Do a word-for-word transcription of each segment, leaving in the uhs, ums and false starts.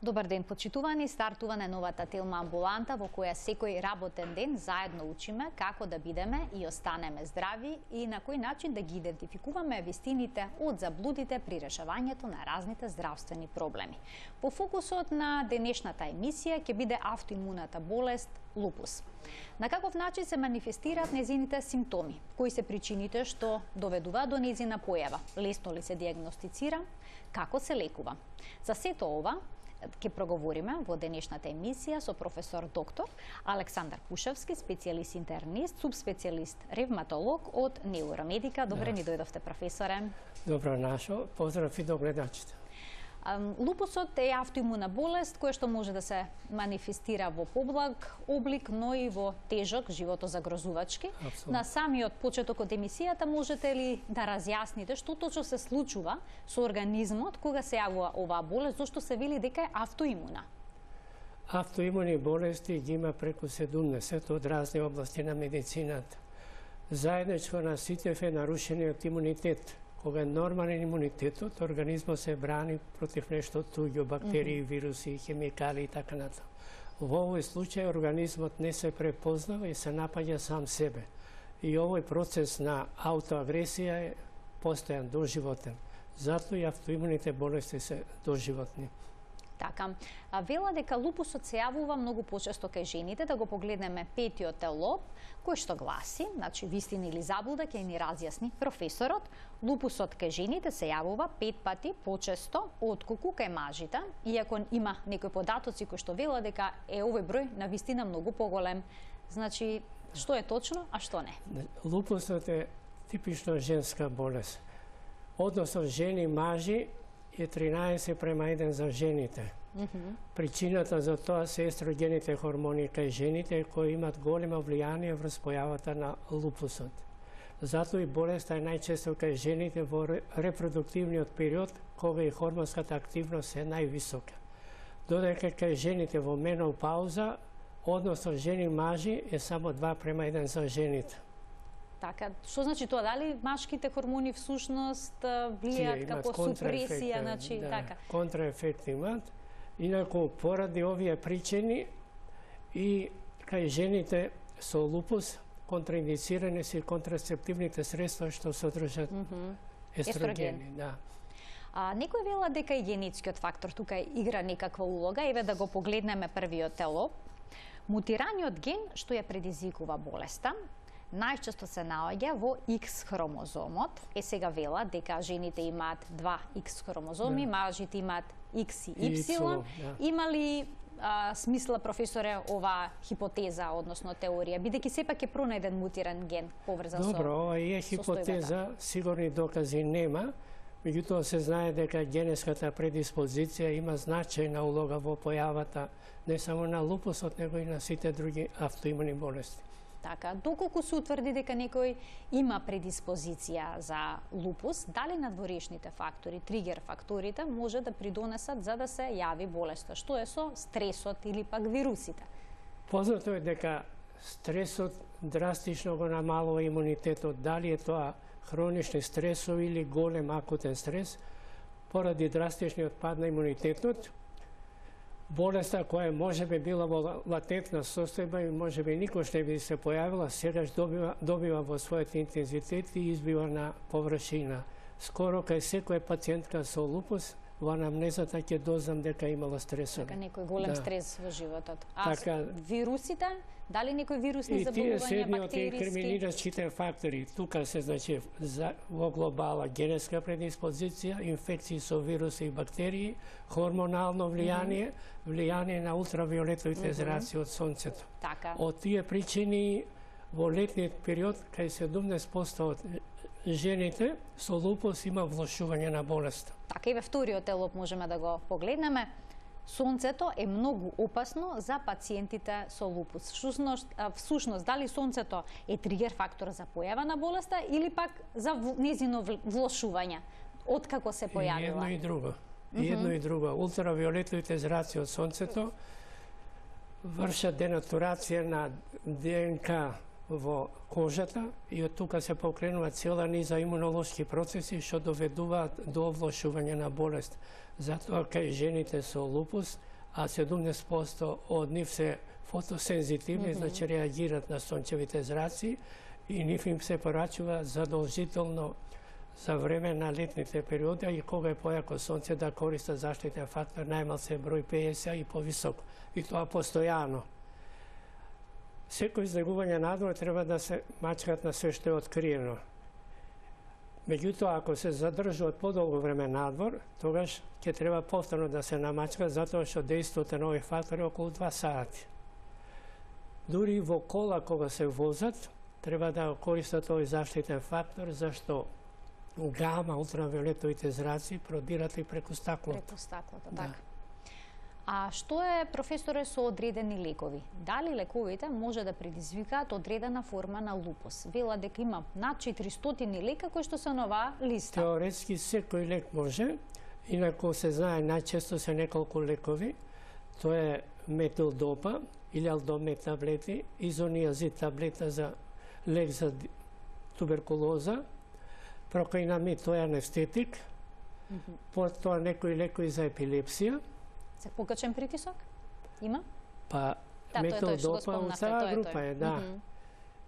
Добар ден, почитувани, стартува на новата Телма амбуланта во која секој работен ден заедно учиме како да бидеме и останеме здрави и на кој начин да ги идентификуваме вистините од заблудите при решавањето на разните здравствени проблеми. По фокусот на денешната емисија ќе биде автоимуната болест лупус. На каков начин се манифестираат незините симптоми? Кои се причините што доведуваат до незина појава? Лесно ли се диагностицира? Како се лекува? За сето ова ќе проговориме во денешната емисија со професор доктор Александар Пушевски, специјалист интернист, субспецијалист ревматолог од Неуромедика. Добре ни дојдовте, професоре. Добро нашо, поздрав и до гледачите. Лупусот е автоимуна болест која што може да се манифестира во поблаг облик, но и во тежок, животозагрозувачки. Абсолютно. На самиот почеток од емисијата можете ли да разјасните што точно се случува со организмот кога се јавува оваа болест, зашто се вели дека е автоимуна? Автоимуни болести ги има преку седумдесет од разни области на медицината. Заедничко на сите е нарушениот имунитет. Кога е нормален имунитетот, организмот се брани против нешто туѓо, бактерии, вируси, хемикали и така натаму. Во овој случај организмот не се препознава и се напаѓа сам себе. И овој процес на аутоагресија е постојан, доживотен. Затоа и автоимуните болести се доживотни. Така, а вела дека лупусот се јавува многу почесто кај жените, да го погледнеме петиот лоб, кој што гласи, значи вистина или заблуда, ќе ни разјасни професорот. Лупусот кај жените се јавува пет пати почесто отколку кај мажите, иако има некои податоци кои што вела дека е овој број на вистина многу поголем. Значи, што е точно, а што не? Лупусот е типично женска болест. Односно жени, мажи е тринаесет према еден за жените. Mm -hmm. Причината за тоа се естрогените хормони кај жените кои имат големо влијание врз појавата на лупусот. Затоа и болеста е најчесто кај жените во репродуктивниот период кога и хормонската активност е највисока. Додека кај жените во менопауза, односно жени мажи е само два према еден за жените. Така, што значи тоа? Дали машките хормони всушност влијаат како супресија, значи да, така? Контраефекти имаат. Инаку поради овие причини и кај жените со лупус контраиндицирани се контрацептивните средства што содржат mm -hmm. естрогени, да. А некој вела дека и генетскиот фактор тука игра некаква улога. Еве да го погледнеме првиот лоб. Мутираниот ген што ја предизвикува болеста најчесто се наоѓа во X хромозомот. Е сега вела дека жените имаат два X хромозоми, да. Мажите имаат X и Y. Y да. Има ли а, смисла, професоре, оваа хипотеза, односно теорија, бидејќи сепак е пронајден мутиран ген поврзан со Добро, ова е хипотеза, сигурни докази нема, меѓутоа се знае дека генетската предиспозиција има значајна улога во појавата не само на лупусот, него и на сите други автоимуни болести. Така, доколку се утврди дека некој има предиспозиција за лупус, дали надворешните фактори, тригер факторите, може да придонесат за да се јави болеста? Што е со стресот или пак вирусите? Познато е дека стресот драстично го намалува имунитетот. Дали е тоа хронични стресови или голем акутен стрес, поради драстичниот пад на имунитетот, болеста која може би била во латентна состојба и може би никош не би се појавила, сегаш добива, добива во својот интензитет и избива на површина. Скоро кај секоја пациентка со лупус, во анамнезата ќе дознам дека имала стресови. Дека некој голем да. стрес во животот. А така, вирусите? Дали некои вирусни и заболувања, бактериски? И тие се едни од инкриминирачките фактори. Тука се, значи, за, во глобала генетска предиспозиција, инфекции со вируси и бактерии, хормонално влијание, mm -hmm. влијание на ултравиолетовите mm -hmm. зраци од сонцето. Така. Од тие причини, во летниот период, кај седумдесет проценти од жените со лупус има влошување на болеста. Така и во вториот лоб можеме да го погледнеме. Сонцето е многу опасно за пациентите со лупус. Всушност, всушност дали сонцето е тригер фактор за појава на болеста или пак за незино влошување? Откако се појавила? И едно и друго. Mm -hmm. И едно и друго. Ултравиолетовите зраци од сонцето вршат денатурација на ДНК во кожата и од тука се покренува цела низа имунолошки процеси што доведуваат до овлошување на болест. Затоа кај жените со лупус а седумдесет проценти од нив се фотосензитивни, mm -hmm. значи реагираат на сончевите зраци и нив им се порачува задолжително за време на летните периоди и кога е појако сонце да користат заштитен фактор најмал се број петдесет и повисоко. И тоа постојано. Секој излегување надвор треба да се мачкат на све што е откриено. Меѓутоа, ако се задржуваат подолго време надвор, тогаш ќе треба повторно да се намачкат, затоа што дејството на овој фактор е околу два сати. Дури во кола кога се возат, треба да користат овој заштитен фактор, зашто гама, ултравиолетовите зраци продират и преку стаклото. Преку стаклото, да. Така. А што е, професоре, со одредени лекови? Дали лековите може да предизвикаат одредена форма на лупус? Вела дека има над четиристотини лека кои што се на оваа листа. Теоретски секој лек може, инаку се знае најчесто се неколку лекови. Тоа е метилдопа или алдомет таблети, изониазид таблета за лек за туберкулоза, прокаинамид, тоа е анестетик, mm -hmm. потоа некои лекови за епилепсија. За покачен притисок? Има? Па, да, метилдопа од таа група е, да. Mm -hmm.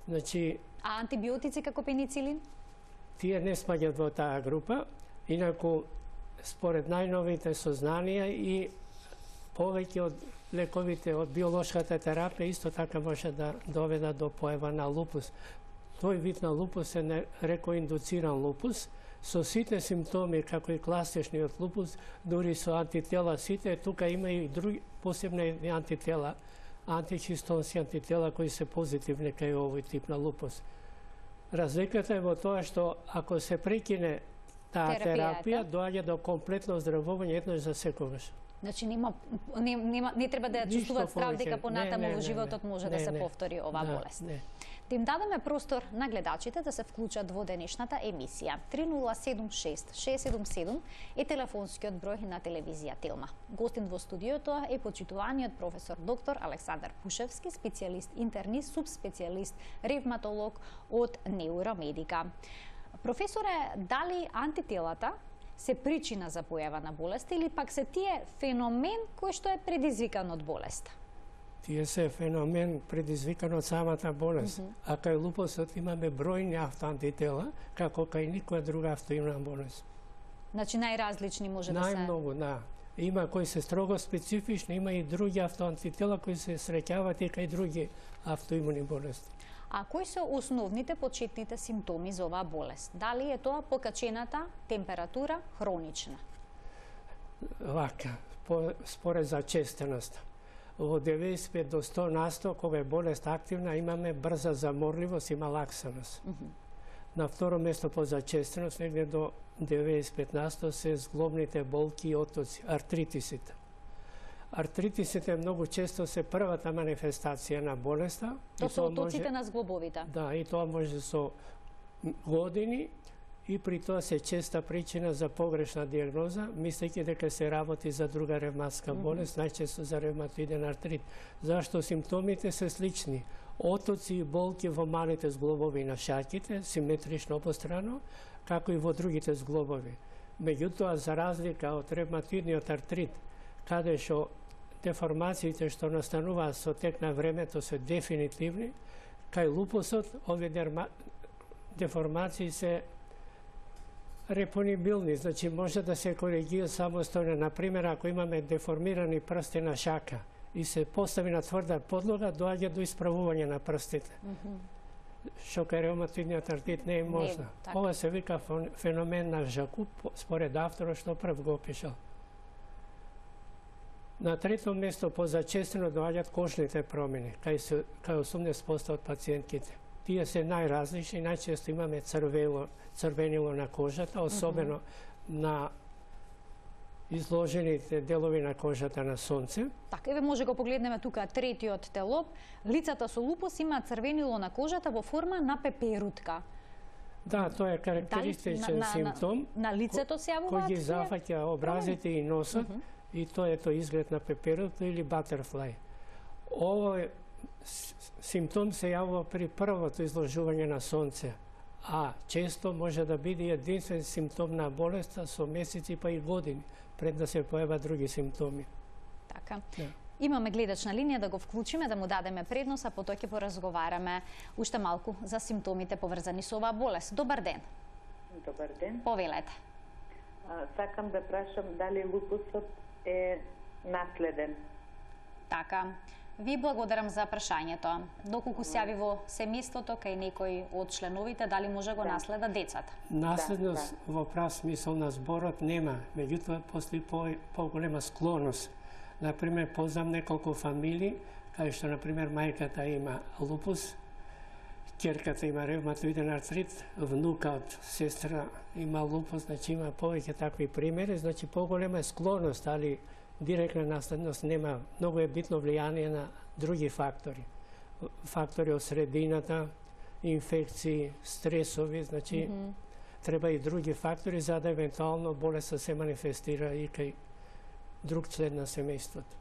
Значи, а антибиотици како пеницилин? Тие не спаѓаат во таа група, инаку според најновите сознанија и повеќе од лековите од биолошката терапија исто така може да доведат до појава на лупус. Тој вид на лупус е рекоиндуциран лупус, со сите симптоми, како и класичниот лупус, дури со антитела сите, тука има и други посебни антитела, антихистонски антитела кои се позитивни кај овој тип на лупус. Разликата е во тоа што ако се прекине таа терапија, доаѓа до комплетно оздравување еднаш за секогаш. Значи нема не, нема, не треба да ја чувствуваат страв дека понатаму во животот може не, да се не, повтори оваа да, болест. Не. Да им дадеме простор на гледачите да се вклучат во денешната емисија. три нула седум шест шест седум седум е телефонскиот број на телевизија Телма. Гостин во студиото е почитуваниот професор доктор Александар Пушевски, специјалист интернист, субспецијалист ревматолог од Неуромедика. Професоре, дали антителата се причина за појава на болеста или пак се тие феномен кој што е предизвикан од болеста? Тие се феномен предизвикан од самата болест. Mm -hmm. А кај лупусот имаме бројни автоантитела, како кај никоја друга автоимуна болест. Значи најразлични може да се... Најмногу, да. Има кои се строго специфични, има и други автоантитела кои се среќаваат и кај други автоимуни болести. А кои се основните почетните симптоми за оваа болест? Дали е тоа покачената температура хронична? Вака, по, според зачестеност. Во деветдесет и пет до сто на сто, кога е болест активна, имаме брза заморливост и малаксаност. Mm -hmm. На второ место по зачестеност, негде до деветдесет и пет на сто, се зглобните болки и отоци, артритисите. Артритисите многу често се првата манифестација на болеста. Тоа се отоците може, на зглобовите. Да, и тоа може со години и при тоа се честа причина за погрешна диагноза, мислејќи дека се работи за друга ревматска болест, mm -hmm. најчесто за ревматоиден артрит. Зашто симптомите се слични. Отоци и болки во малите зглобови на шаќите, симетрично обострано, како и во другите зглобови. Меѓутоа, за разлика од ревматоидниот артрит, каде што деформациите што настануваат со тек на времето се дефинитивни, кај лупусот овие деформации се репонибилни, значи може да се коригира самостојно. Например, ако имаме деформирани прсти на шака и се постави на тврда подлога, доаѓа до исправување на прстите. Mm -hmm. Што кај ревматоидниот артрит не е можно. Не, ова се вика феномен на Жакуб, според авторот што прв го опишал. На трето место по зачестено доаѓаат кожните промени, кај, кај осумдесет проценти од пациентките. Тие се најразлични, најчесто имаме црвело, црвенило на кожата, особено mm -hmm. на изложените делови на кожата на сонце. Така, еве може го погледнеме тука третиот телоп. Лицата со лупус имаат црвенило на кожата во форма на пеперутка. Да, тоа е карактеристичен на, на, симптом. На, на лицето се јавуваат кој ги зафаќа образите и носот, mm -hmm. и тоа е тој изглед на пеперутка или батерфлај. Овој симптом се јавува при првото изложување на сонце, а често може да биде единствен симптом на болеста со месеци па и години, пред да се појават други симптоми. Така. Така. Да. Имаме гледач на линија, да го вклучиме, да му дадеме предност, а потоа ќе поразговараме уште малку за симптомите поврзани со оваа болест. Добар ден. Добар ден. Повелете. А, сакам да прашам дали лупусот е наследен. Така. Ви благодарам за прашањето. Доколку се јави во семејството кај некој од членовите, дали може го Да. наследа децата? Наследност Да, во прав смисол на зборот нема, меѓутоа постои по, поголема склоност. Например, познам неколку фамилии, кај што, например, мајката има лупус, ќерката има ревматоиден артрит, внукот, сестра има лупус, значи има повеќе такви примери, значи поголема е склоност, али директна наследност нема. Многу е битно влијание на други фактори. Фактори од средината, инфекции, стресови, значи mm -hmm. треба и други фактори за да евентуално болеста се манифестира и кај друг член на семејството.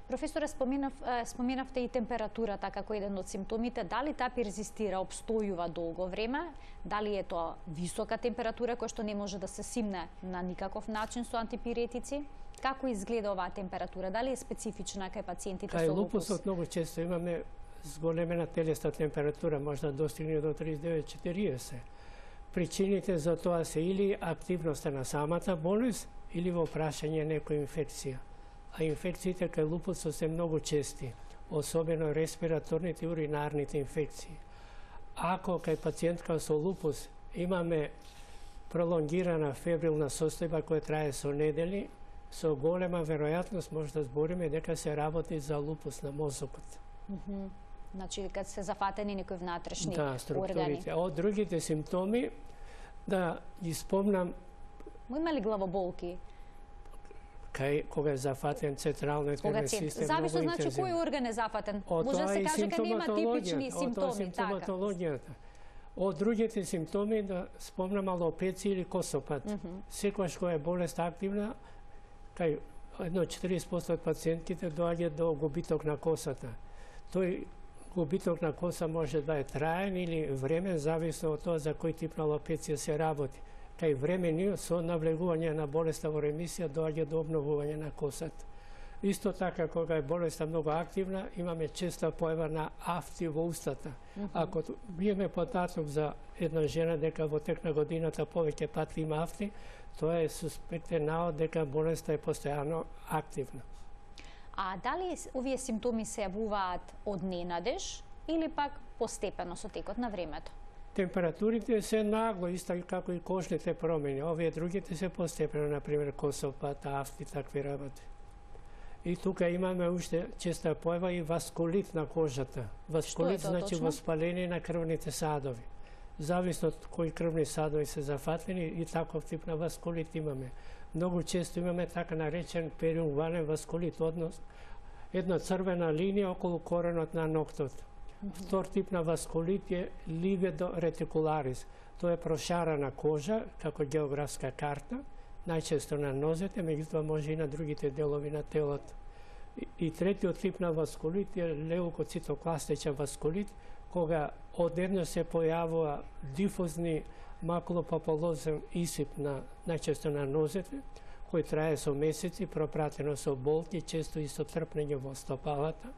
Професоре, споменав, споменавте и температурата како еден од симптомите. Дали таа перзистира, обстојува долго време? Дали е тоа висока температура која што не може да се симне на никаков начин со антипиретици? Како изгледа оваа температура? Дали е специфична кај пациентите Кај со лупус? лупусот многу често имаме зголемена телесна температура, може да достигне до триесет и девет четириесет. Причините за тоа се или активноста на самата болест, или во прашање некоја инфекција. А инфекциите кај лупусот се многу чести, особено респираторните и уринарните инфекции. Ако кај пациентка со лупус имаме пролонгирана фебрилна состојба која трае со недели, со голема веројатност може да збориме дека се работи за лупус на мозокот. Mm -hmm. Значи, кога се зафатени некои внатрешни да, органи. структурите. А од другите симптоми, да ги спомнам, има ли главоболки? Кај кога е зафатен централно нервен систем, зависно многу значи интензивно. кој орган е зафатен. О, може да се каже дека нема типични О, симптоми, симптоматологијата. Од другите симптоми да спомнам алопеција или косопат. Mm -hmm. Секогаш кога е болест активна, кај едно четириесет проценти од пациентките доаѓа до губиток на косата. Тој губиток на коса може да е траен или времен, зависно од тоа за кој тип на алопеција се работи. Кај времени со навлегување на болеста во ремисија доаѓа до обновување на косата. Исто така, кога е болеста многу активна, имаме честа појава на афти во устата. Mm -hmm. Ако биеме податок за една жена дека во тек на годината повеќе пати има афти, тоа е суспектен навод дека болеста е постојано активна. А дали овие симптоми се јавуваат од ненадеж или пак постепено со текот на времето? Температурите се нагло, исто како и кожните промени. Овие другите се постепено, например косопат, афти, такви работи. И тука имаме уште честа појава и васкулит на кожата. Васкулит значи воспаление на крвните садови. Зависно од кои крвни садови се зафатени и таков тип на васкулит имаме. Многу често имаме така наречен периунвален васкулит, однос една црвена линија околу коренот на ноктот. Mm -hmm. Втор тип на васкулит е ливедо ретикуларис. Тоа е прошарана кожа како географска карта, најчесто на нозете, меѓутоа може и на другите делови на телото. И, и третиот тип на васкулит е леукоцитокластичен васкулит, кога одеднаш се појавува дифузни макулопапулозен исип на најчесто на нозете, кој трае со месеци, пропратено со болки, често и со трпнење во стопалата.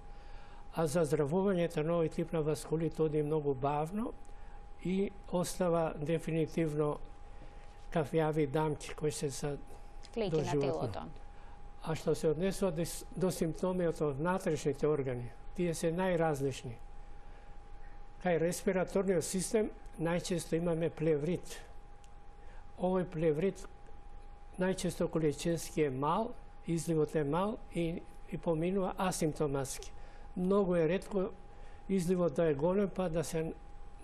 А заздравувањето на овој тип на васкулит оди многу бавно и остава дефинитивно кафјави дамки кои се са флеки на телото. А што се однесува до, до симптомите од внатрешните органи, тие се најразлични. Кај респираторниот систем најчесто имаме плеврит. Овој плеврит најчесто количински е мал, изливот е мал и, и поминува асимптоматски. Многу е ретко изливот да е голем, па да се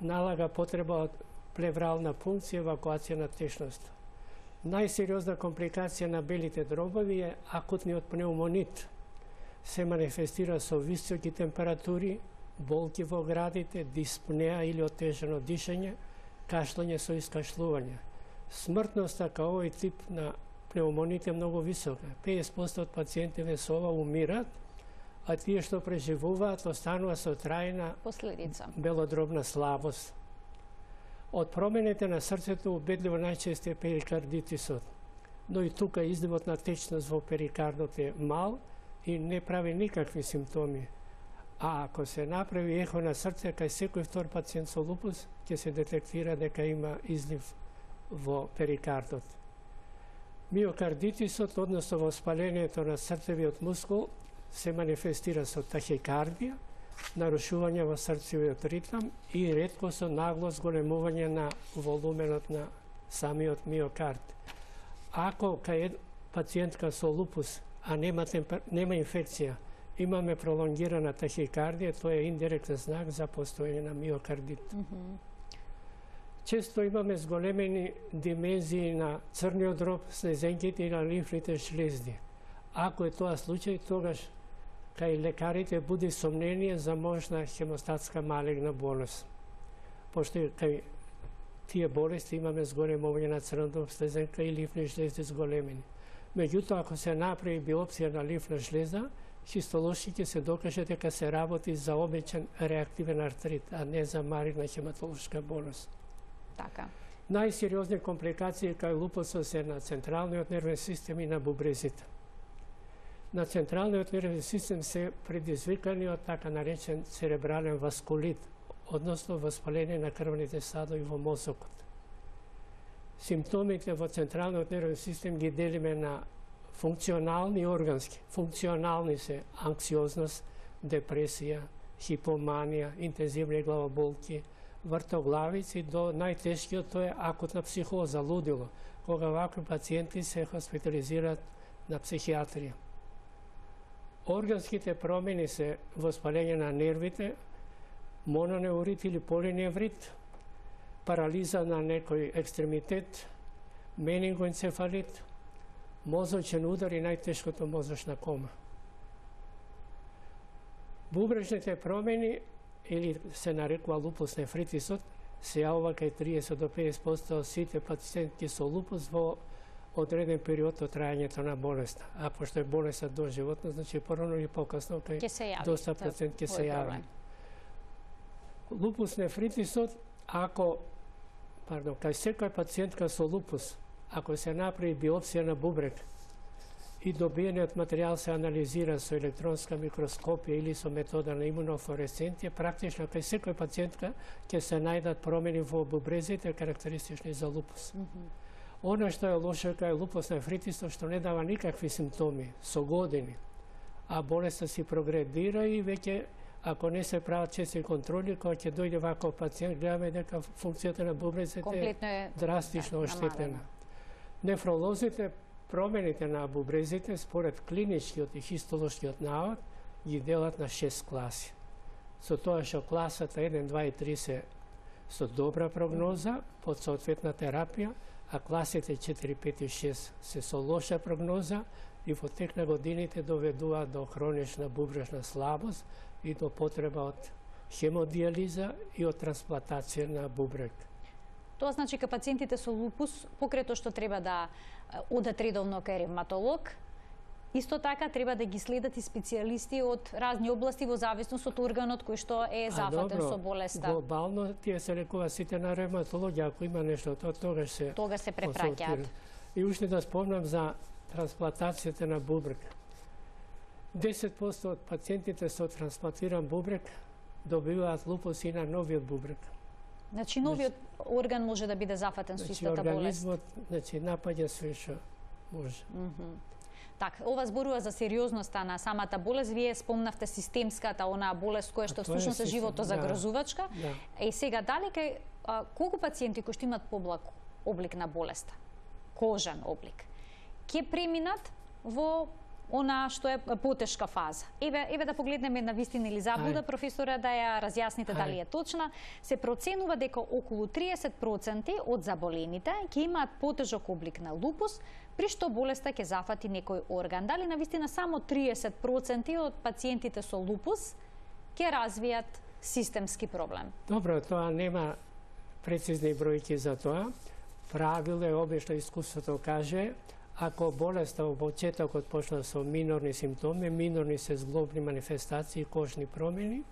налага потреба од плеврална пункција, евакуација на течност. Најсериозна компликација на белите дробови е акутниот пнеумонит. Се манифестира со високи температури, болки во градите, диспнеа или отежено дишење, кашлање со искашлување. Смртноста кај овој тип на пнеумонит е многу висока. песет проценти од пациентите со ова умират, а тие што преживуваат останува со трајна последица белодробна слабост. Од промените на срцето убедливо најчесто е перикардитисот, но и тука изливот на течност во перикардот е мал, и не прави никакви симптоми. А ако се направи ехо на срце, кај секој втор пациент со лупус, ќе се детектира дека има излив во перикардот. Миокардитисот, односно воспалението на срцевиот мускул, се манифестира со тахикардија, нарушување во срцевиот ритам и ретко со нагло зголемување на волуменот на самиот миокард. Ако кај пациентка со лупус, а нема, темпер... нема инфекција, имаме пролонгирана тахикардија, тоа е индиректен знак за постоење на миокардит. Mm -hmm. Често имаме зголемени димензии на црниот дроб, слезенките и на лимфните шлезди. Ако е тоа случај, тогаш кај лекарите буди сомнение за можна хемостатска малигна болест. Пошто кај тие болести имаме зголемување на црниот дроб, слезенка и лимфни шлезди зголемени. Меѓутоа, ако се направи биопсија на лимфна шлеза, хистолошки ќе се докаже дека се работи за обичен реактивен артрит, а не за малигна хематолошка болест. Така. Најсериозни компликации кај лупусот се на централниот нервен систем и на бубрезите. На централниот нервен систем се предизвикани од така наречен церебрален васкулит, односно воспаление на крвните садови во мозокот. Симптомите во централниот нервен систем ги делиме на функционални и органски. Функционални се анксиозност, депресија, хипоманија, интензивни главоболки, вртоглавици, до најтешкиот тоа е акутна психоза, лудило, кога вакви пациенти се хоспитализираат на психијатрија. Органските промени се воспаление на нервите, мононеврит или полиневрит, парализа на некој екстремитет, менингоенцефалит, мозочен удар и најтешкото мозочна кома. Бубрежните промени, или се нарекува лупус нефритисот, се јавува кај триесет до педесет проценти од сите пациенти со лупус во одреден период од трајањето на болеста. А пошто е болеста доживотна, значи порано или покасно кај доста процент ќе се јави. Лупус нефритисот, ако, пардон, кај секоја пациентка со лупус, ако се направи биопсија на бубрек и добиениот материјал се анализира со електронска микроскопија или со метода на имунофлуоресценција, практично кај секој пациентка ќе се најдат промени во бубрезите карактеристични за лупус. Mm -hmm. Оно што е лошо кај лупус нефритисот, што не дава никакви симптоми со години, а болеста си прогредира и веќе ако не се прават чести контроли, кога ќе дојде ваков пациент, гледаме дека функцијата на бубрезите е драстично да, оштетена. Нефролозите, промените на бубрезите, според клиничкиот и хистолошкиот навод, ги делат на шест класи. Со тоа што класата еден, два и три се со добра прогноза под соодветна терапија, а класите четири, пет и шест се со лоша прогноза и во тек на годините доведуваат до хронична бубрежна слабост и до потреба од хемодиализа и од трансплантација на бубрек. Тоа значи кај пациентите со лупус, покрај тоа што треба да одат редовно кај ревматолог, исто така треба да ги следат и специјалисти од разни области во зависност од органот кој што е зафатен со болеста. Глобално тие се лекува сите на ревматологија, ако има нешто, тоа тогаш се тогаш се препраќаат. И уште да спомнам за трансплантацијата на бубрек. десет проценти од пациентите со трансплантиран бубрек добиваат лупус и на новиот бубрек. Значи новиот орган може да биде зафатен со истата болест. Организмот, значи напаѓа све што може. Mm -hmm. Така, ова зборува за сериозноста на самата болест. Вие спомнавте системската, онаа болест која што всушност е живото загрозувачка. Да. И сега дали кај а, колку пациенти кои што имаат поблак облик на болеста, кожен облик, ќе преминат во она што е потешка фаза. Еве, еве да погледнеме на вистина или заблуда, професора, да ја разјасните дали е точна. Се проценува дека околу триесет проценти од заболените ќе имаат потежок облик на лупус, при што болеста ќе зафати некој орган. Дали на вистина само триесет проценти од пациентите со лупус ќе развијат системски проблем? Добро, тоа нема прецизни бројки за тоа. Правило е, обично искуството каже, ако болеста во почетокот почна со минорни симптоми, минорни се зглобни манифестации, кожни промени,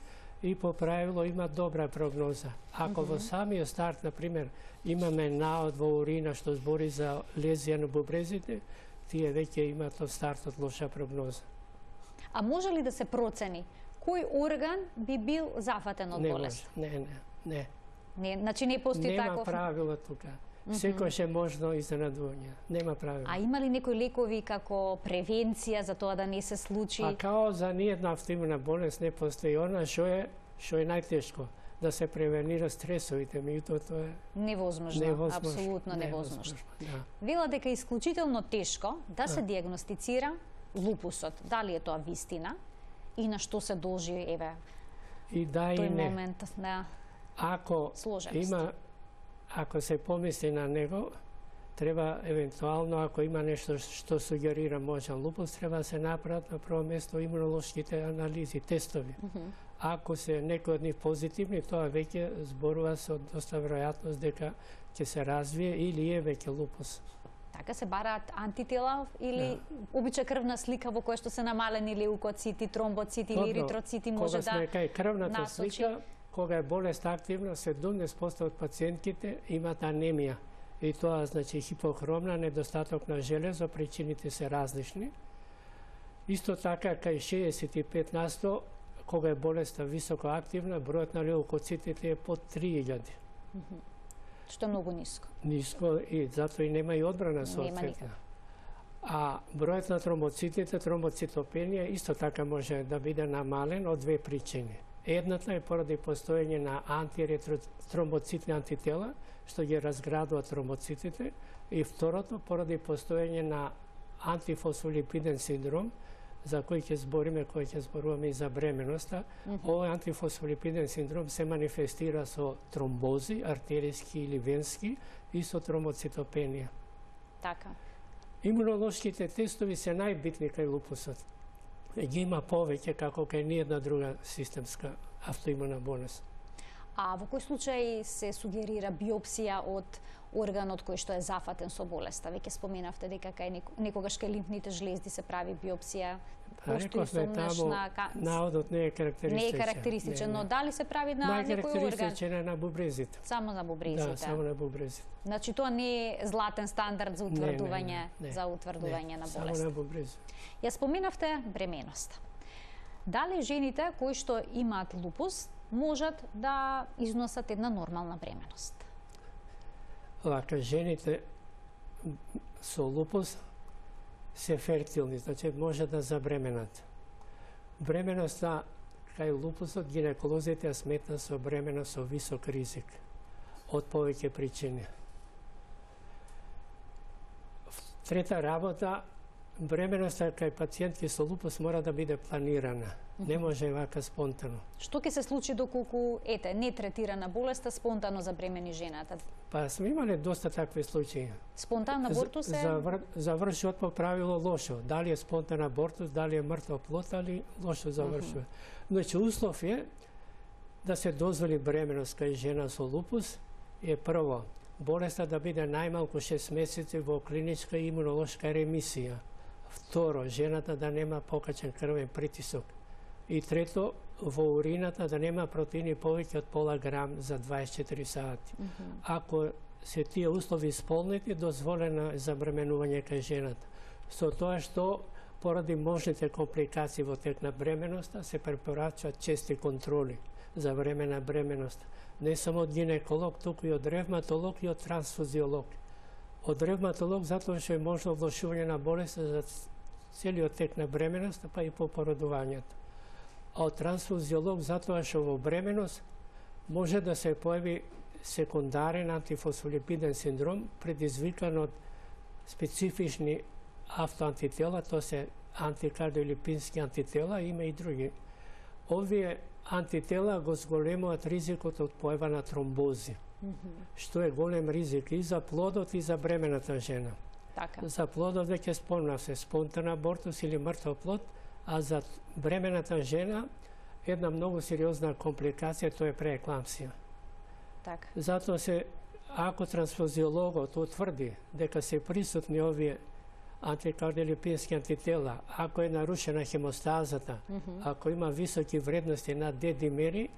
и по правило има добра прогноза. Ако mm -hmm. во самиот старт, например, имаме наод во урина што збори за лезија на бубрезите, тие веќе имаат од стартот лоша прогноза. А може ли да се процени кој орган би бил зафатен од не болест? Може. Не, не, не. Не, значи не постои Нема таков... правило тука. Секој е можно изненадување. Нема правило. А има ли некои лекови како превенција за тоа да не се случи? А као за ниједна автоимуна болест не постои она што е што е најтешко, да се превенира стресовите, меѓутоа тоа е Невозможно, невозможно. апсолутно невозможно. невозможно. Да. Вела дека е исклучително тешко да се диагностицира лупусот. Дали е тоа вистина и на што се должи еве И да и тој не. момент на Ако сложеност? има ако се помисли на него, треба евентуално ако има нешто што сугерира можен лупус, треба да се направат на прво место имунолошките анализи, тестови. Mm -hmm. Ако се некој од нив позитивни, тоа веќе зборува со доста веројатност дека ќе се развие или е веќе лупус. Така се бараат антитела или Да. обича крвна слика во која што се намалени леукоцити, тромбоцити или Добро, еритроцити може кога да сме кај крвната насочи. слика, кога е болест активна, седумдесет проценти од пациентките имаат анемија. И тоа значи хипохромна, недостаток на железо, причините се различни. Исто така, кај шеесет и пет на сто, кога е болеста високо активна, бројот на леукоцитите е под три илјади. Што е многу ниско. Ниско и затоа и нема и одбрана соодветна. никако. А бројот на тромбоцитите, тромбоцитопенија, исто така може да биде намален од две причини. Едната е поради постоење на антиретромбоцитни антитела, што ги разградуваат тромбоцитите, и второто поради постоење на антифосфолипиден синдром, за кој ќе збориме, кој ќе зборуваме и за бременоста. Mm -hmm. Овој антифосфолипиден синдром се манифестира со тромбози, артериски или венски, и со тромбоцитопенија. Така. Имунолошките тестови се најбитни кај лупусот. Ги има повеќе како кај ниједна друга системска автоимуна болест. А во кој случај се сугерира биопсија од органот кој што е зафатен со болеста? Веќе споменавте дека кај некогаш кај лимфните жлезди се прави биопсија. Постои сумнеш на наодот не е карактеристичен. Не е карактеристичен, но дали се прави на некој орган? Најкарактеристичен е на бубрезите. Само на бубрезите. Да, само на бубрезите. Значи тоа не е златен стандард за утврдување, не, не, не, за утврдување не, на болест. Само на бубрезите. Ја споменавте бременоста. Дали жените кои што имаат лупус можат да износат една нормална бременост? Лака, жените со лупус се фертилни, значи може да забременат. Бременоста кај лупусот гинеколозите ја сметна со бременост со висок ризик од повеќе причини. Трета работа, бременоста кај пациентки со лупус мора да биде планирана. Не може вака спонтано. Што ќе се случи доколку ете не третирана болеста спонтано забремени жената? Па сме имале доста такви случаи. Спонтан абортус е Завр... завршува по правило лошо. Дали е спонтан абортус, дали е мртва плод, али лошо завршува. Значи услов е да се дозволи бременост кај жена со лупус е прво болеста да биде најмалку шест месеци во клиничка имунолошка ремисија. Второ, жената да нема покачен крвен притисок. И трето, во урината да нема протеини повеќе од пола грам за дваесет и четири сати. Mm -hmm. Ако се тие услови исполнети, дозволено е забременување кај жената. Со тоа што поради можните компликации во тек на бременоста се препорачуваат чести контроли за време на бременост. Не само од гинеколог, туку и од ревматолог и од трансфузиолог. Од ревматолог затоа што е можно влошување на болеста за целиот тек на бременоста, па и по породувањето. А од трансфузиолог затоа што во бременост може да се појави секундарен антифосфолипиден синдром предизвикан од специфични автоантитела, тоа се антикардиолипински антитела, има и други. Овие антитела го зголемуваат ризикот од појава на тромбози, mm -hmm. што е голем ризик и за плодот и за бремената жена. Така. За плодот веќе спомнав се спонтан абортус или мртов плод, а за бремената жена една многу сериозна компликација, тоа е преекламсија. Така. Затоа се, ако трансфузиологот утврди дека се присутни овие антикардиолипински антитела, ако е нарушена хемостазата, mm -hmm. ако има високи вредности на Д-димери,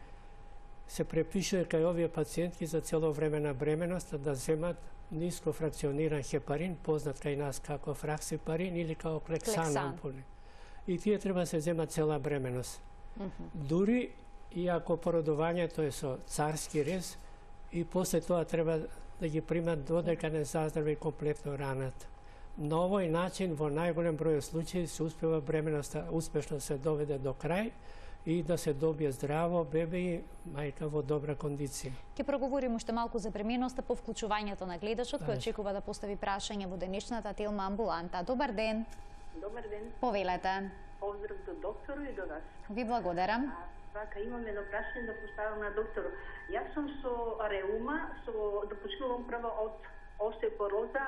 се препишува кај овие пациентки за цело време на бременоста да земат ниско фракциониран хепарин, познат кај нас како фраксипарин или како клексан ампули. и тие треба да се земат цела бременост. Mm -hmm. Дури и ако породувањето е со царски рез, и после тоа треба да ги примат додека не заздрави комплетно раната. На овој начин, во најголем број случаи, се успева бременоста успешно се доведе до крај и да се добие здраво бебе и мајка во добра кондиција. Ќе проговориме уште малку за бременоста по вклучувањето на гледачот кој очекува да постави прашање во денешната Телма амбуланта. Добар ден. Добар ден. Повелете. Поздрав до доктору и до вас. Ви благодарам. Вака, имам едно прашање да поставам на доктору. Јас сум со реума, со да почнувам прво од остеопороза,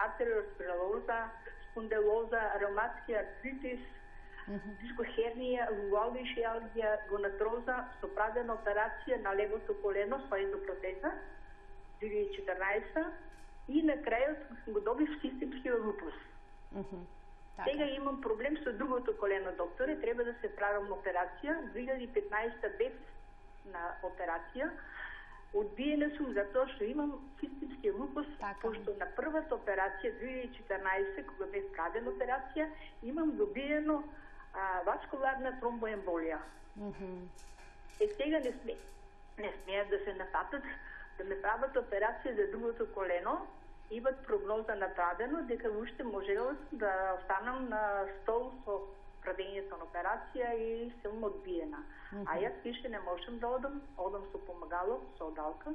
артериосклероза, спондилоза, реуматски артритис, mm -hmm. дискохернија, луалгија, гонатроза, со правена операција на левото колено со ендопротеза, две илјади и четрнаесета, и на крајот го добив системски лупус. Mm -hmm. Сега имам проблем со другото колено, докторе, треба да се правам операција. две илјади и петнаесета бев на операција. Одбиена сум затоа што имам системски лупус, така, пошто на првата операција две илјади и четрнаесета, кога бев правена операција, имам добиено а, васкуларна тромбоемболија. Mm -hmm. Е сега не сме, не смеат да се напатат да ме прават операција за другото колено. Имат прогноза направено дека уште можела да останам на стол со правењето на операција и сум одбиена. Mm -hmm. А јас више не можам да одам, одам со помагало, со одалка.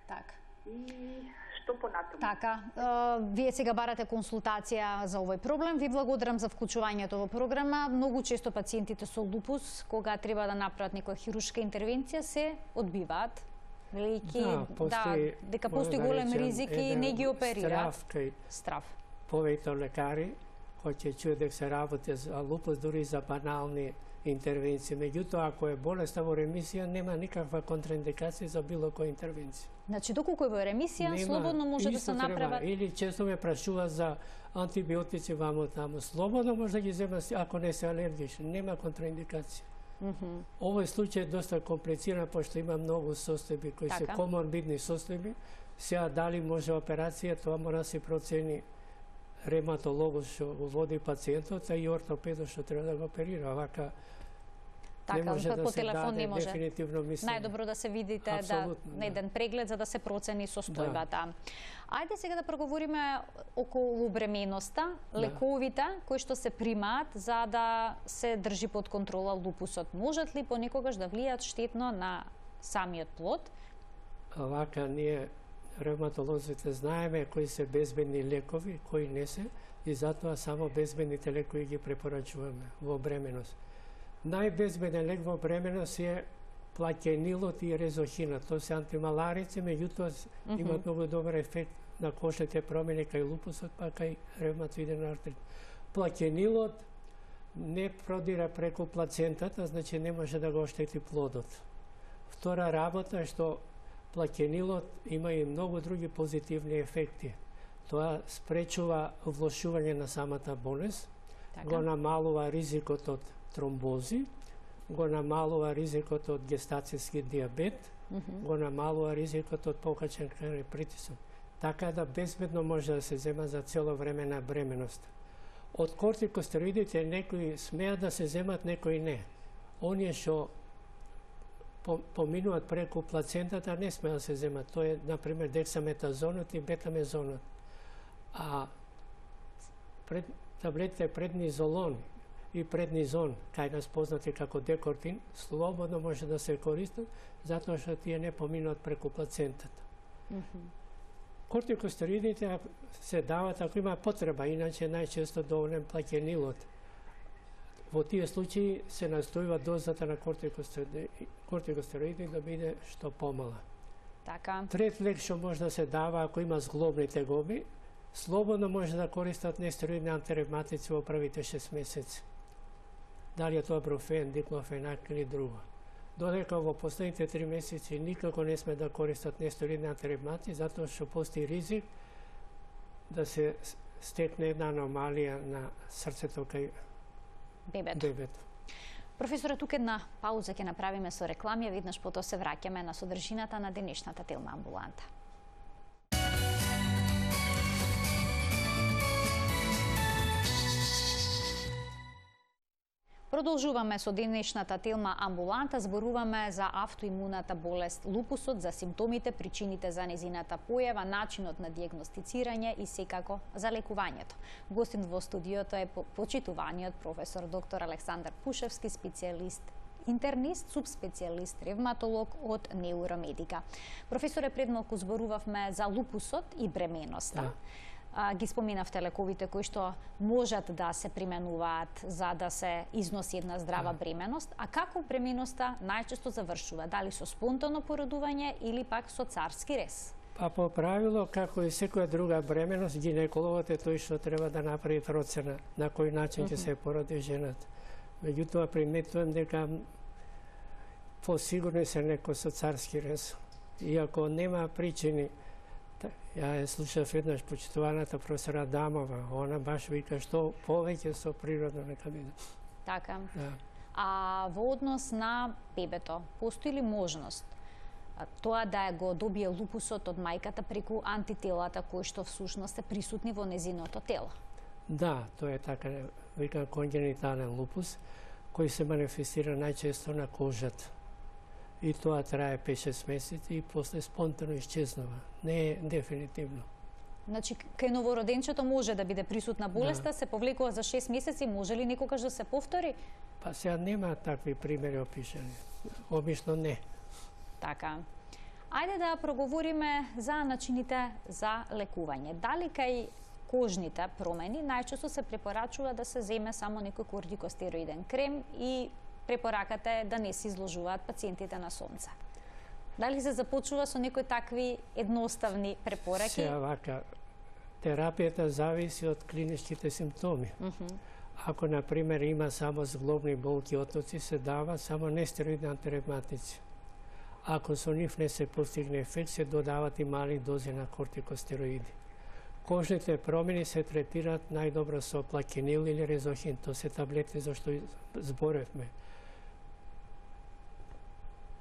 Така. И што понатаму? Така, uh, вие сега барате консултација за овој проблем. Ви благодарам за вклучувањето во програма. Многу често пациентите со лупус, кога треба да направат некоја хируршка интервенција, се одбиваат. Велики, да, постои, да, дека постои да голем ризик и не ги оперираат. Страф кај Страф. повеќе лекари кои ќе чуе дека се работи за лупус дури за банални интервенции. Меѓутоа, ако е болеста во ремисија, нема никаква контраиндикација за било која интервенција. Значи, доколку е во ремисија, нема, слободно може да се направат. Или често ме прашува за антибиотици ваму таму. Слободно може да ги зема ако не се алергични. Нема контраиндикација. Mm -hmm. Овој случај е доста комплициран, пошто има многу состојби кои така се коморбидни состојби. Сега дали може операција, тоа мора да се процени ревматологот што го води пациентот, а и ортопедот што треба да го оперира. Вака така, не може по да се телефон даде не може. Дефинитивно мислење. Најдобро да се видите да, на еден преглед за да се процени состојбата. Да. Ајде сега да проговориме околу бременоста, да. Лековите кои што се примаат за да се држи под контрола лупусот. Можат ли понекогаш да влијаат штетно на самиот плод? Вака ние ревматолозите знаеме кои се безбедни лекови, кои не се, и затоа само безбедните лекови ги препорачуваме во бременост. Најбезбеден лек во бременост е плакенилот и резохинот. Тоа се антималарици, меѓутоа mm -hmm. имаат многу добар ефект на кошните промени кај лупусот, па кај ревматоиден артрит. Плакенилот не продира преку плацентата, значи не може да го оштети плодот. Втора работа е што плакенилот има и многу други позитивни ефекти. Тоа спречува влошување на самата болест, така. Го намалува ризикот од тромбози, го намалува ризикот од гестацијски диабет, mm -hmm. го намалува ризикот од покачен крвни притисок. Така да безбедно може да се зема за цело време на бременост. Од кортикостероидите некои смеат да се земат, некои не. Оние што поминуваат преку плацентата не смеат да се земат. Тоа е, например, дексаметазонот и бетамезонот. А пред, таблетите преднизолон и преднизон, кај нас познати како декортин, слободно може да се користат, затоа што тие не поминуваат преку плацентата. Mm -hmm. Кортикостероидите се дават ако има потреба, иначе најчесто доволен плакенилот. Во тие случаи се настојува дозата на кортикостероиди да биде што помала. Така. Трет лек што може да се дава ако има зглобни тегоби, слободно може да користат нестероидни антиревматици во првите шест месеци. Дали е тоа брофен, диклофенак или друго. Додека во последните три месеци никако не сме да користат нестероидни антиревматици, затоа што постои ризик да се стекне една аномалија на срцето кај бебето. бебето. Професоре, тука една пауза ќе направиме со реклами, веднаш потоа се враќаме на содржината на денешната Телма амбуланта. Продолжуваме со денешната тема амбуланта, зборуваме за автоимуната болест лупусот, за симптомите, причините за незината појава, начинот на дијагностицирање и секако за лекувањето. Гостин во студиото е почитуваниот професор доктор Александар Пушевски, специјалист интернист, субспецијалист ревматолог од Неуромедика. Професоре, пред малку зборувавме за лупусот и бременоста. Да. А, ги споминавте лековите кои што можат да се применуваат за да се износи една здрава бременост, а како бременоста најчесто завршува? Дали со спонтано породување или пак со царски рез? Па по правило, како и секоја друга бременост, гинекологот е тој што треба да направи процена на кој начин ќе се породи жената. Меѓутоа приметувам дека посигурно се некој со царски рез. Иако нема причини. Ја е слушав еднаш почитуваната професора Адамова, она баш вика што повеќе со природно нека биде. Така. Да. А во однос на бебето, постои ли можност тоа да го добие лупусот од мајката преку антителата кои што всушност се присутни во незиното тело? Да, тоа е така, вика конгенитален лупус, кој се манифестира најчесто на кожата. И тоа трае пет-шест месеци и после спонтано исчезнува. Не е дефинитивно. Значи, кај новороденчето може да биде присутна болеста, да. Се повлекува за шест месеци, може ли некогаш да се повтори? Па сега нема такви примери опишани. Обично не. Така. Ајде да проговориме за начините за лекување. Дали кај кожните промени најчесто се препорачува да се земе само некој кортикостероиден крем и препораката е да не се изложуваат пациентите на сонце. Дали се започува со некои такви едноставни препораки? Сега вака, терапијата зависи од клиничките симптоми. Uh -huh. Ако, например, има само зглобни болки отоци, се дава само нестероидни антиревматици. Ако со нив не се постигне ефект, се додават и мали дози на кортикостероиди. Кожните промени се третираат најдобро со плакинил или резохин, тоа се таблети за што зборевме.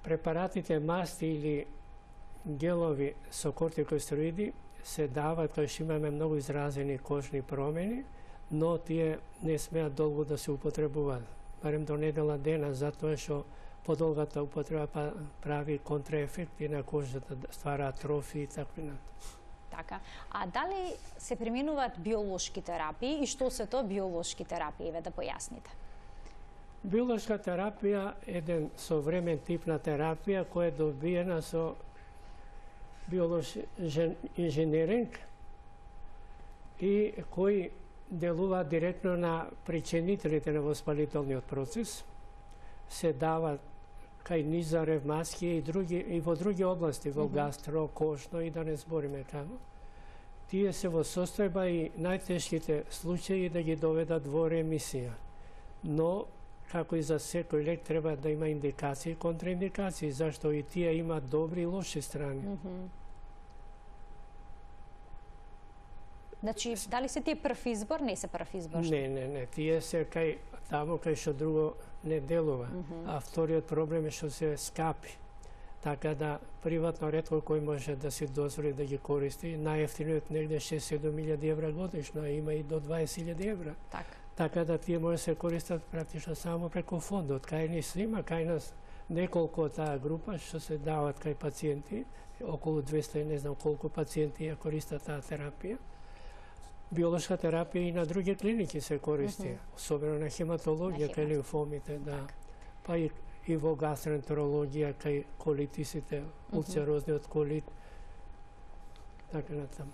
Препаратите масти или гелови со кортикостероиди се дават кога што имаме многу изразени кожни промени, но тие не смеат долго да се употребуваат, барем до недела дена, затоа што подолгата употреба прави контраефекти на кожата, ствара атрофии и така натаму. Така. А дали се применуваат биолошки терапии и што се тоа биолошки терапии, еве да појасните? Биолошка терапија е еден современ тип на терапија која е добиена со биолошки инженеринг и кој делува директно на причинителите на воспалителниот процес, се дава кај низа ревматски и други и во други области, во гастро, кожно и да не збориме таму. Тие се во состојба и најтешките случаи да ги доведат во ремисија. Но како и за секој лек треба да има индикации и контраиндикации, зашто и тие имаат добри и лоши страни. Mm -hmm. Значи, дали се тие прв избор, не се прв избор? Не, не, не, тие се кај таму кај што друго не делува. Mm -hmm. А вториот проблем е што се скапи. Така да приватно ретко кој може да си дозволи да ги користи. Најефтиниот негде шест-седум илјади евра годишно, а има и до дваесет илјади евра. Така. Така да тие може да се користат практично само преку фондот. Кај ни се има, кај нас неколку таа група што се дават кај пациенти, околу двесте, не знам колку пациенти ја користат таа терапија. Биолошка терапија и на други клиники се користи, mm -hmm. особено на хематологија, кај лимфомите, да. Па и, и во гастроентерологија, кај колитисите, улцерозниот колит, така натаму.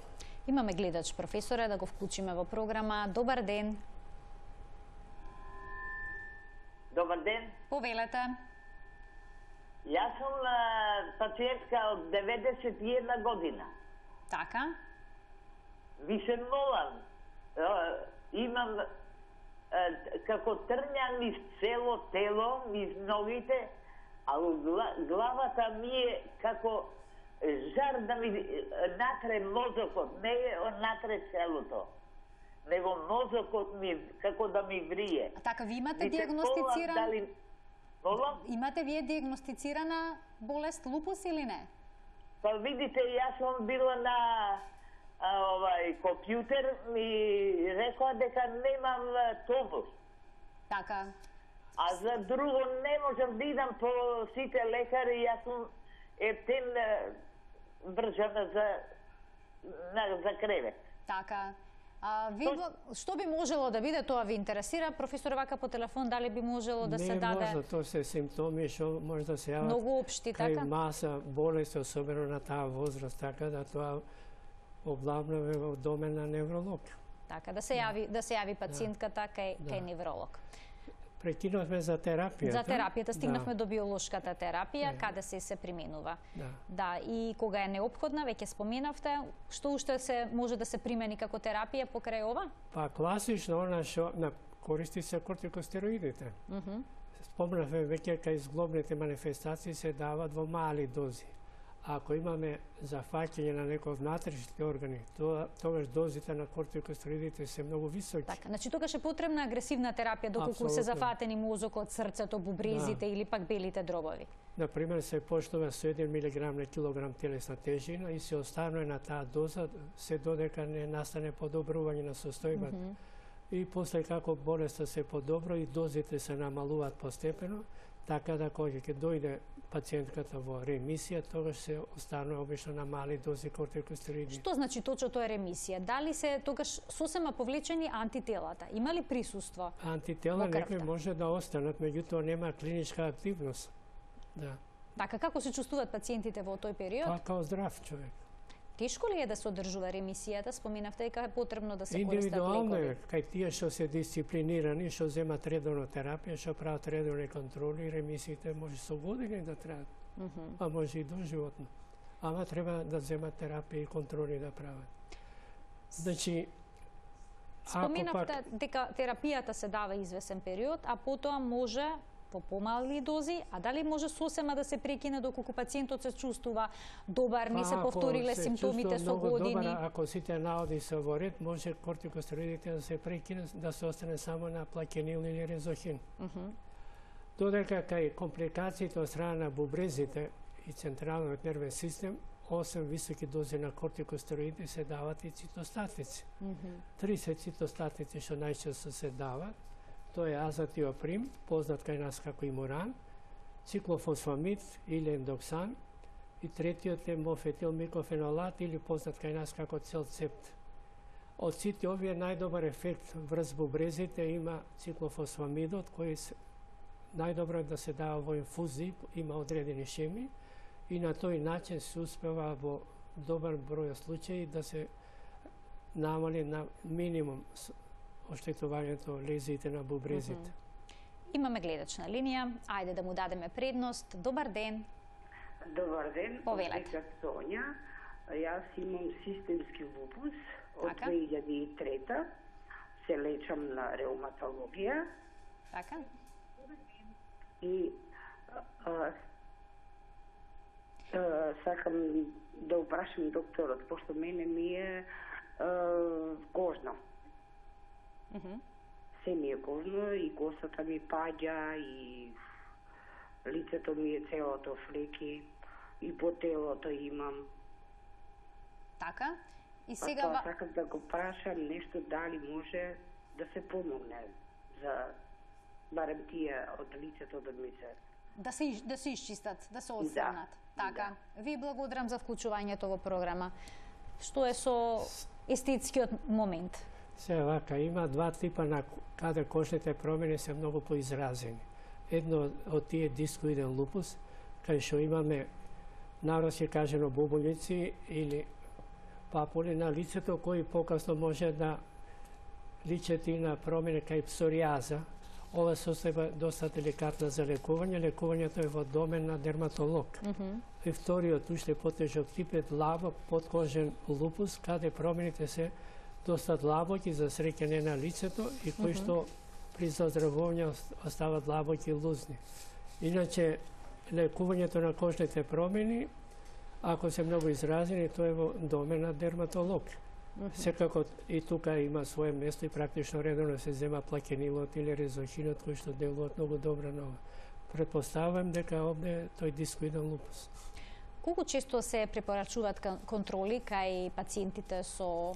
Имаме гледач, професоре, да го вклучиме во програма. Добар ден. Добар ден. Повелете. Јас сум пациентка од деветдесет и една година. Така. Ви се молам, имам како трња низ цело тело, низ ногите, а главата ми е како жар да ми натре мозокот, не е натре целото, него мозокот ми како да ми врие. А така, ви имате диагностициран... Дали... Имате вие диагностицирана болест лупус или не? Па видите, јас сум била на а, овај компјутер, ми рекоа дека немам тобус. Така. А за друго не можам да идам по сите лекари, јас сум ептен вржана за, за кревет. Така. А, ви, што би можело да биде, тоа ви интересира, професор, вака по телефон, дали би можело да не се даде... Не може, тоа се симптоми што може да се јават. Многу општи, така? Кај маса болести, особено на таа возраст, така да тоа облавнаме во домен на невролог. Така, да се јави, да се јави пациентката кај, да. кај невролог. Прекинувме за терапијата. За терапијата стигнавме да. до биолошката терапија, не. каде се се применува. Да. Да, и кога е неопходна, веќе споменавте, што уште се може да се примени како терапија покрај ова? Па класично она што на користи се кортикостероидите. Mm -hmm. Спомнавме веќе кај зглобните манифестации се дават во мали дози. Ако имаме зафаќање на некој од внатрешните органи, тоа тогаш дозите на кортикостероидите се многу високи. Така, значи тогаш е потребна агресивна терапија доколку Абсолютно. се зафатени мозокот, срцето, бубрезите да. или пак белите дробови. На пример се почнува со еден милиграм на килограм телесна тежина и се останува на таа доза се додека не настане подобрување на состојбата. Mm -hmm. И после како болеста се подобро и дозите се намалуваат постепено, така да кога ќе дојде пациентката во ремисија, тогаш се останува обично на мали дози кортикостероиди. Што значи точно тоа е ремисија? Дали се тогаш сосема повлечени антителата? Има ли присуство? Антитела некои може да останат, меѓутоа нема клиничка активност. Да. Така, како се чувствуваат пациентите во тој период? Па као здрав човек. Тешко ли е да се одржува ремисијата? Споменавте дека е потребно да се користат лекови. Индивидуално е, кај тие што се дисциплинирани, што земат редовно терапија, што прават редовни контроли, ремисиите може со години да траат, mm -hmm. а може и доживотно. Ама треба да земат терапија и контроли да прават. Значи, споменавте пак... дека терапијата се дава извесен период, а потоа може по помали дози, а дали може сосема да се прекине доколку пациентот се чувствува добар, не се повториле симптомите со години? Добар, ако сите наоди се во ред, може кортикостероидите да се прекине, да се остане само на плакенил или резохин. Uh -huh. Додека кај компликациите од страна на бубрезите и централниот нервен систем, осем високи дози на кортикостероиди се дават и цитостатици. Uh -huh. тридесет цитостатици што најчесто се дават. Тоа е азатиоприм, познат кај нас како имуран, циклофосфамид или ендоксан, и третиот е мофетилмикофенолат или познат кај нас како целцепт. Од сите овие најдобар ефект врз бубрезите има циклофосфамидот, кој најдобро е да се дава во инфузии, има одредени шеми, и на тој начин се успева во добар број случаи да се намали на минимум оштетувањето лезиите на бубрезите. Mm -hmm. Имаме гледач на линија, ајде да му дадеме предност. Добар ден. Добар ден, повелете. Сонја. Јас имам системски лупус од така? две илјади и трета. Се лечам на реуматологија. Така? И а, а, сакам да упрашам докторот, пошто мене ми е а, кожно. Mm -hmm. Се ми е кожно и косата ми паѓа и лицето ми е целото флеки и по телото имам. Така? И сега... А тоа сакам да го прашам нешто дали може да се помогне за барем тие од лицето да ми се... Да се, да се исчистат, да се отстранат. Да. Така. Да. Ви благодарам за вклучувањето во програма. Што е со естетскиот момент? Се вака, има два типа на каде кожните промени се многу поизразени. Едно од тие дискоиден лупус, кај што имаме народски кажено бубулици или папули на лицето, кои покасно може да личат и на промени кај псоријаза. Ова состојба доста деликатна за лекување. Лекувањето е во домен на дерматолог. Mm -hmm. И вториот, уште потежок тип е длабок подкожен лупус, каде промените се доста длабоки за среќање на лицето и кои mm -hmm. што при заздравување остават длабоки и лузни. Иначе, лекувањето на кожните промени, ако се многу изразени, тоа е во домен на дерматолог. Mm -hmm. Секако и тука има свое место и практично редовно се зема плакенилот или резохинот, кои што делуваат многу добро на ова. Предпоставувам дека овде тој дискоиден лупус. Колку често се препорачуваат контроли кај пациентите со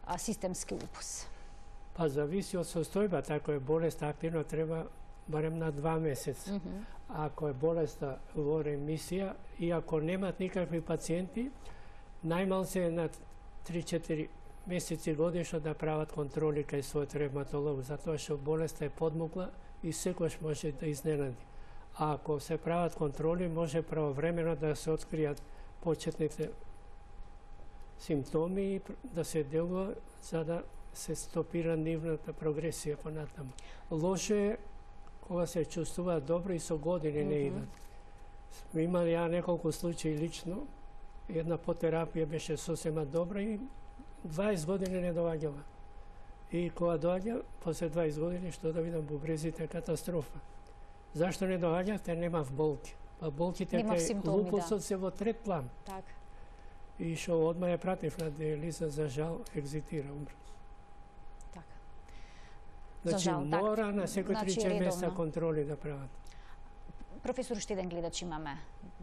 а, системски лупус? Па зависи од состојбата. Ако е болест активно, треба барем на два месеца. Mm -hmm. Ако е болеста во ремисија и ако немат никакви пациенти, најмал се на три-четири месеци годишно да прават контроли кај својот ревматолог, затоа што болеста е подмукла и секојаш може да изненади. А ако се прават контроли, може правовремено да се откријат почетните симптоми и да се делува за да се стопира нивната прогресија понатаму. Лошо е кога се чувствуваат добро и со години не идат. Сме имали ја неколку случаи лично, една потерапија беше сосема добра и дваесет години не доаѓала. И кога доаѓа, после дваесет години, што да видам бубрезите е катастрофа. Зашто не доаѓа? Те немав болки. Па болките кај лупусот се во трет план. Така. И што одма ја пратив на диализа, за жал, екзитира, умра. Така. Значи, жал, мора так. на секој Значи, три-четири месеца редовно. контроли да прават. Професор, уште еден гледач имаме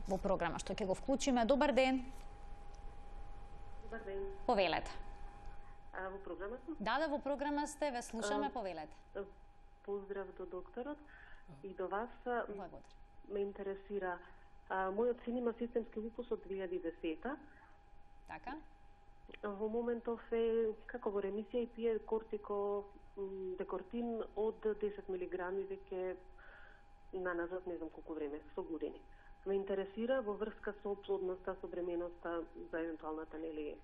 во програма, што ќе го вклучиме. Добар ден. Добар ден. Повелете. А, во програма сум? Да, да, во програма сте, ве слушаме, А, повелете. Поздрав до докторот и до вас. А, Благодарам. Ме интересира, а, мојот син има системски лупус од две илјади и десета. Така? Во моментов е како во ремисија и пие кортико м, декортин од десет милиграми веќе на назад не знам колку време, со години. Ме интересира во врска со плодноста, со бременоста за евентуалната нели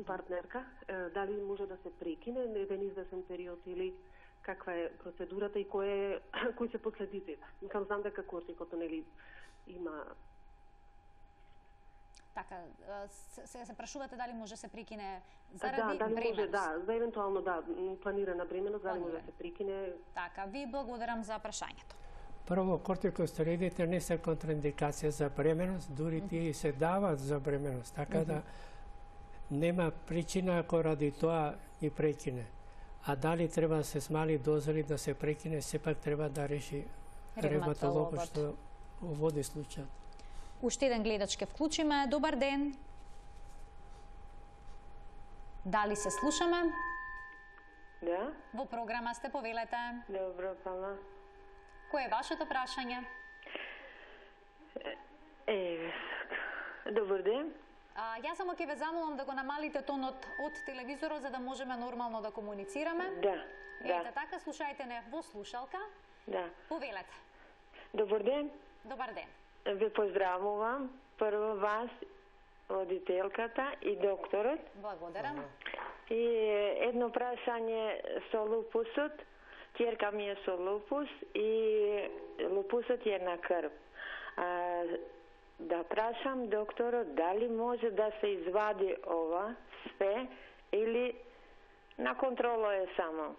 партнерка, е, дали може да се прекине еден извесен период или каква е процедурата и кој е кои се последиците. Мислам, знам дека кортикото нели има. Така, се, се прашувате дали може се прекине Да, заради дали бременост. може, да, за евентуално да, м, планирана бременост, дали може да Планирана. се прекине. Така, ви благодарам за прашањето. Прво, кортикостероидите не се контраиндикација за бременост, дури тие и се дават за бременост, така да нема причина ако ради тоа ги прекине. А дали треба да се смали доза или да се прекине, сепак треба да реши ревматологот што води случајот. Уште еден гледач ке вклучиме. Добар ден. Дали се слушаме? Да, Во програма сте, повелете. добро, фала. Кој е вашето прашање? Е, добар ден. А, јас само ќе ве замолам да го намалите тонот од телевизорот за да можеме нормално да комуницираме. Да, Ете да, така, слушајте не во слушалка. да. Повелете. Добар ден. Добар ден. Ве поздравувам. Прво вас, водителката и докторот. Благодарам. И едно прашање со лупусот. Ќерка ми е со лупус и лупусот е на крв. А, да прашам докторот дали може да се извади ова све или на контрола е само.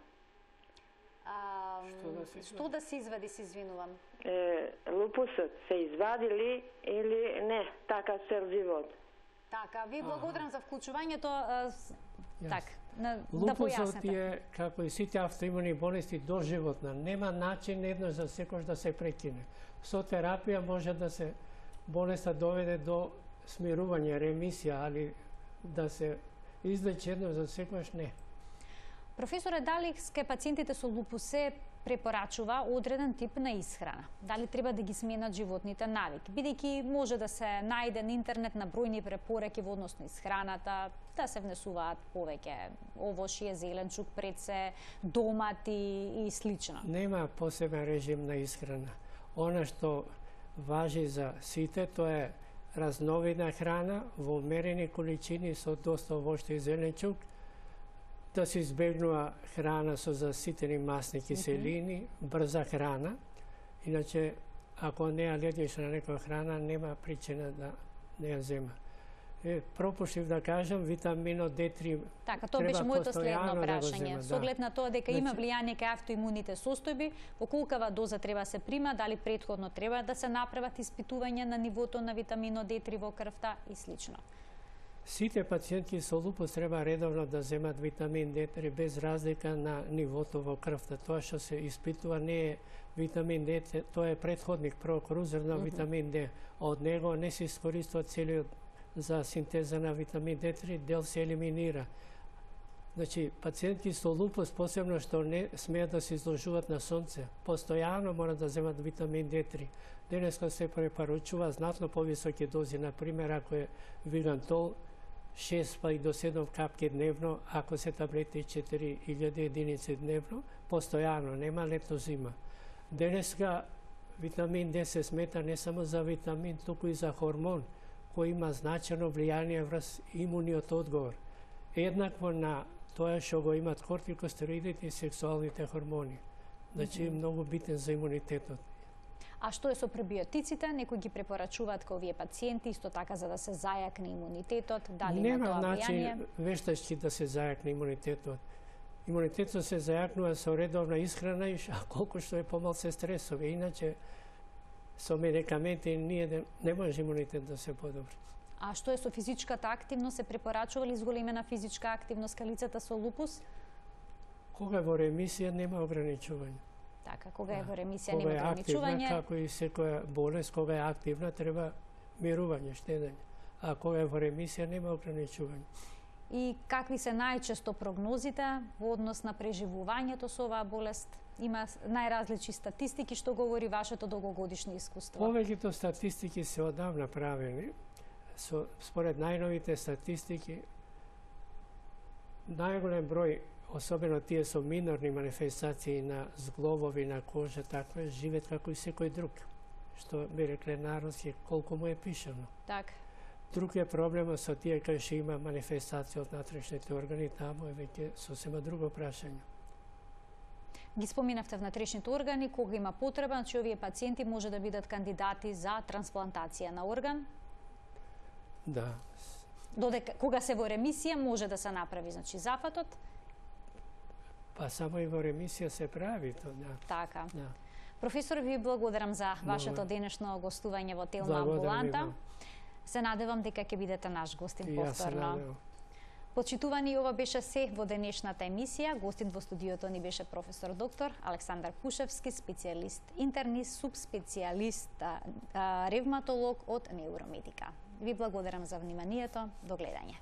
А, Што да се што да се извади, се извинувам. Е, лупусот се извади ли или не, така цел живот. Така, ви благодарам за вклучувањето. а, с- Јасно. Так, на, да Лупусот појасните. е, како и сите автоимуни болести, доживотна. Нема начин еднаш за секој да се прекине. Со терапија може да се болеста доведе до смирување, ремисија, али да се излечи еднаш за секојаш не. Професоре, дали ке пациентите со лупус се препорачува одреден тип на исхрана? Дали треба да ги сменат животните навики? Бидејќи може да се најде на интернет на бројни препораки во однос на исхраната, да се внесуваат повеќе овошје, зеленчук, преце, домати и слично. Нема посебен режим на исхрана. Она што важи за сите, тоа е разновидна храна во умерени количини со доста овошје и зеленчук, да се избегнува храна со заситени масни киселини, брза храна. Иначе, ако не е алергична на некоја храна, нема причина да не ја зема. Е, пропуштив да кажам, витаминот Д три Така, тоа треба беше моето следно постојано да го прашање. зема, Со да. оглед на тоа дека има Значи- влијание кај автоимуните состојби, во колкава доза треба да се прима, дали претходно треба да се направат испитувања на нивото на витаминот Д три во крвта и слично. Сите пациенти со лупус треба редовно да земат витамин Д три без разлика на нивото во крвта. Тоа што се испитува не е витамин Д, тоа е претходник, прокрузер на витамин Д. Од него не се искористува целиот за синтеза на витамин Д три, дел се елиминира. Значи, пациентки со лупус, посебно што не смеат да се изложуваат на сонце, постојано мора да земат витамин Д три. Денеска се препорачува знатно повисоки дози, например, ако е вигантол, шест па и до седум капки дневно, ако се таблети четири илјади единици дневно, постојано, нема лето зима. Денеска витамин Д се смета не само за витамин, туку и за хормон, кој има значено влијание врз имуниот одговор. Еднакво на тоа што го имат кортикостероидите и сексуалните хормони. Значи, mm -hmm. многу битен за имунитетот. А што е со пребиотиците? Некои ги препорачуваат кај овие пациенти, исто така за да се зајакне имунитетот, дали Нема има тоа начин влијание? вештачки да се зајакне имунитетот. Имунитетот се зајакнува со редовна исхрана и колку што е помал се стресови. Иначе, со медикаменти ние не може имунитет да се подобри. А што е со физичката активност? Се препорачува ли зголемена физичка активност кај лицата со лупус? Кога е во ремисија нема ограничување. Така, кога е во ремисија Кога нема е активна, ограничување. како и секоја болест, кога е активна треба мирување, штедење. А кога е во ремисија нема ограничување. И какви се најчесто прогнозите во однос на преживувањето со оваа болест? Има најразлични статистики, што говори вашето долгогодишно искуство. Повеќето статистики се одавна правени. Со, според најновите статистики, најголем број, особено тие со минорни манифестации на зглобови на кожа, таква, живеат како и секој друг. Што би рекле народски, колку му е пишано. Так. Друг е проблемот со тие кај што има манифестација од натрешните органи, таму е веќе сосема друго прашање. Ги споминавте внатрешните органи, кога има потреба, значи овие пациенти може да бидат кандидати за трансплантација на орган. Да. Додека кога се во ремисија може да се направи, значи зафатот. Па само и во ремисија се прави тоа, да. Така. Да. Професор, ви благодарам за вашето Добре. денешно гостување во Телма амбуланта. Се надевам дека ќе бидете наш гостин повторно. Почитувани, ова беше се во денешната емисија. Гостин во студиото ни беше професор доктор Александар Кушевски, специјалист интернист, субспецијалист ревматолог од Неуромедика. Ви благодарам за вниманието. До гледање.